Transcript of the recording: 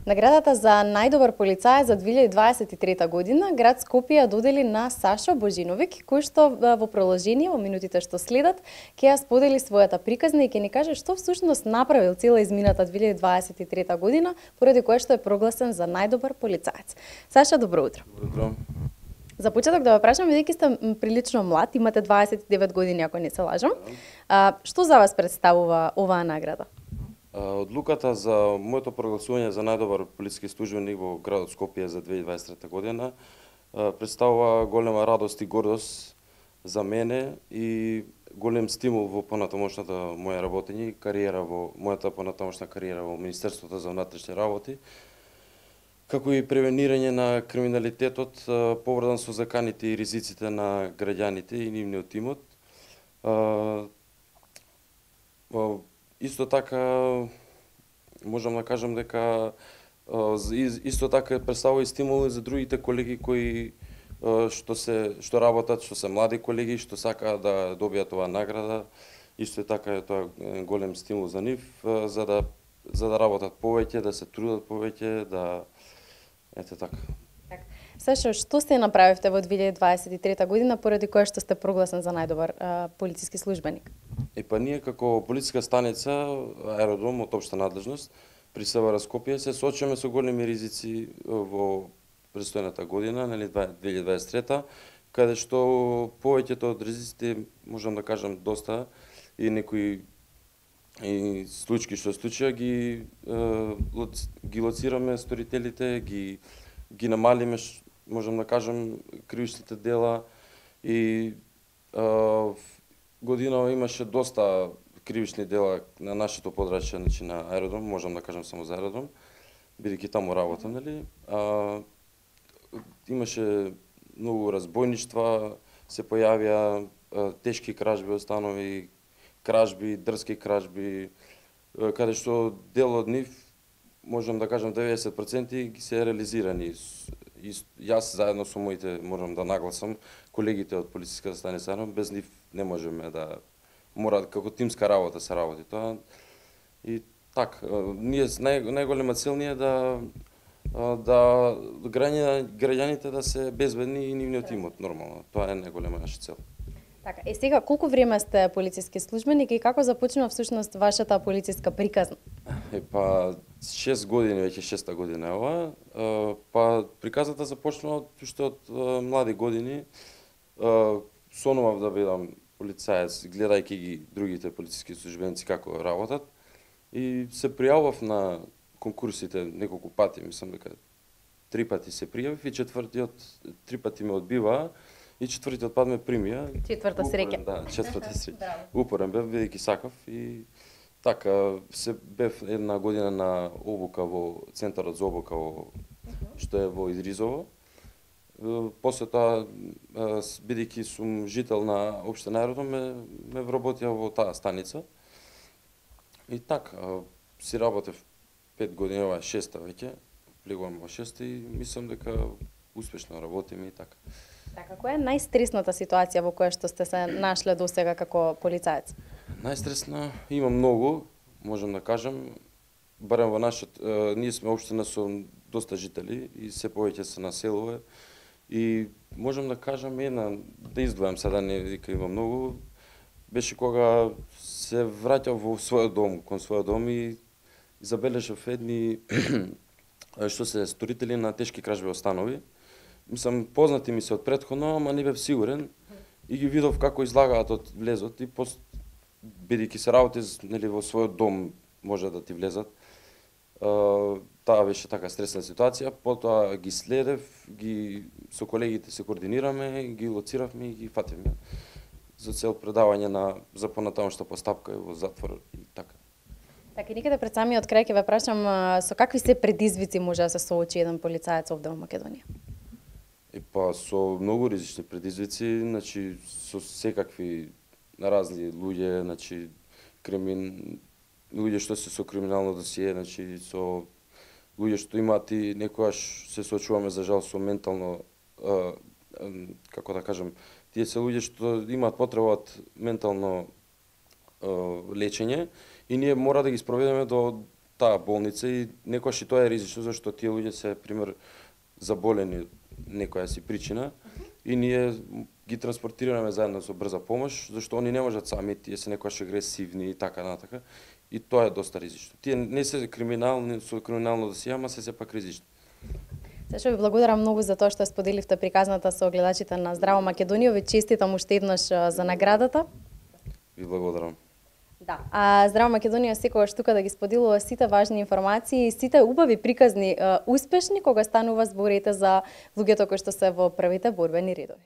Наградата за најдобар полицаец за 2023 година град Скопје ја додели на Сашо Божиновик, кој што во продолжение во минутите што следат ќе ја сподели својата приказна и ќе ни каже што всушност направил цела измината 2023 година, поради кое што е прогласен за најдобар полицаец. Саша, добро утро. Добро утро. За почеток да ве прашам, бидејќи сте прилично млад, имате 29 години ако не се лажам, што за вас представува оваа награда? Одлуката за моето прогласување за најдобар полициски службеник во градот Скопје за 2023 година представува голема радост и гордост за мене и голем стимул во понатамошната моја работење и кариера во мојата понатамошна кариера во Министерството за внатрешни работи, како и превенирање на криминалитетот поврзан со заканите и ризиците на граѓаните и нивниот имот. Исто така можам да кажам дека исто така представува и стимул за другите колеги кои што работат, што се млади колеги, што сакаат да добијат оваа награда. Исто така е тоа голем стимул за нив за да работат повеќе, да се трудат повеќе, ете така. Сашо, што сте направивте во 2023 година поради кое што сте прогласен за најдобар полициски службеник? Ние како полициска станица, аеродром од општа надлежност, при СВР Скопје се соочуваме со големи ризици во престојната година, 2023, каде што повеќето од ризиците, можам да кажам доста, и некои случаи што случија ги лоцираме сторителите, ги намалиме, можам да кажам, кривичните дела и година имаше доста кривични дела на нашето подрачје, значи на аеродром, можам да кажам само за аеродром, бидејќи таму работам, нели? Имаше многу разбойништва, се појавија тешки кражби од станови, кражби, дрски кражби, каде што дел од нив, можам да кажам 90% ги се реализирани. Јас заедно со моите, можам да нагласам, колегите од полициската станица, без нив не можеме да мора како тимска работа се работи тоа. И така, ние најголема цел ни е да граѓаните да се безбедни и нивниот имот нормално. Тоа е најголема наша цел. Така, сега колку време сте полициски службеник и како започна всушност вашата полициска приказна? 6 години, веќе 6-та година е ова. Приказната започна уште од млади години. Сонував да бидам полицаец, гледајќи ги другите полициски службеници како работат. И се пријавав на конкурсите неколку пати, мислам дека 3 пати се пријавив и 3 пати ме одбива и 4-тиот пат ме примија. Четврта среќа. Да, 4-та среќа. Упорен бев, бидејќи сакав и така се бев една година на обука во центарот за обука што е во Идризово. После тоа, бидејќи сум жител на општина аеродром, ме вработија во таа станица. И така, си работев 5 години, ова е 6-та веќе, влегувам во 6-та и мислам дека успешно работиме и така. Така, која е најстресната ситуација во која што сте се нашле досега како полицаец? Најстресна има многу, можам да кажам, барем во ние сме општина со доста жители и се повеќе се населува и можам да кажам да издвојам сега, не дека има многу, беше кога се враќав во својот дом, кон својот дом и забележав едни што се сторители на тешки кражби од станови. Мислам, познати ми се од претходно, ама не бев сигурен и ги видов како излагаат од влезот и бидејќи се работи нели во својот дом може да ти влезат. Таа беше така стресна ситуација, потоа ги следев, со колегите се координираме, ги лоциравме и ги фативме за цел предавање за понатамошна постапка во затвор и така. Така и никаде пред самиот крај ќе ве прашам со какви се предизвици може да се соочи еден полицаец овде во Македонија? Со многу ризични предизвици, значи со секакви разни луѓе, значи луѓе што се со криминално досие, значи со луѓе што имаат и некогаш се соочуваме за жал со ментално, како да кажам, тие се луѓе што имаат потреба од ментално лечење и ние мора да ги спроведеме до таа болница и некогаш и тоа е ризично зашто тие луѓе се пример заболени некоја си причина и ние ги транспортираме заедно со брза помош зашто они не можат сами, тие се некогаш агресивни и така натака и тоа е доста ризично. Тие не се криминални со криминално досие, ама се сепак ризично. Сашо, ви благодарам многу за тоа што споделивте приказната со гледачите на Здраво Македонија. Ви честитам уште еднаш за наградата. Ви благодарам. Да. А Здраво Македонија секогаш тука да ги споделува сите важни информации и сите убави приказни успешни кога станува зборите за луѓето кои што се во првите борбени редови.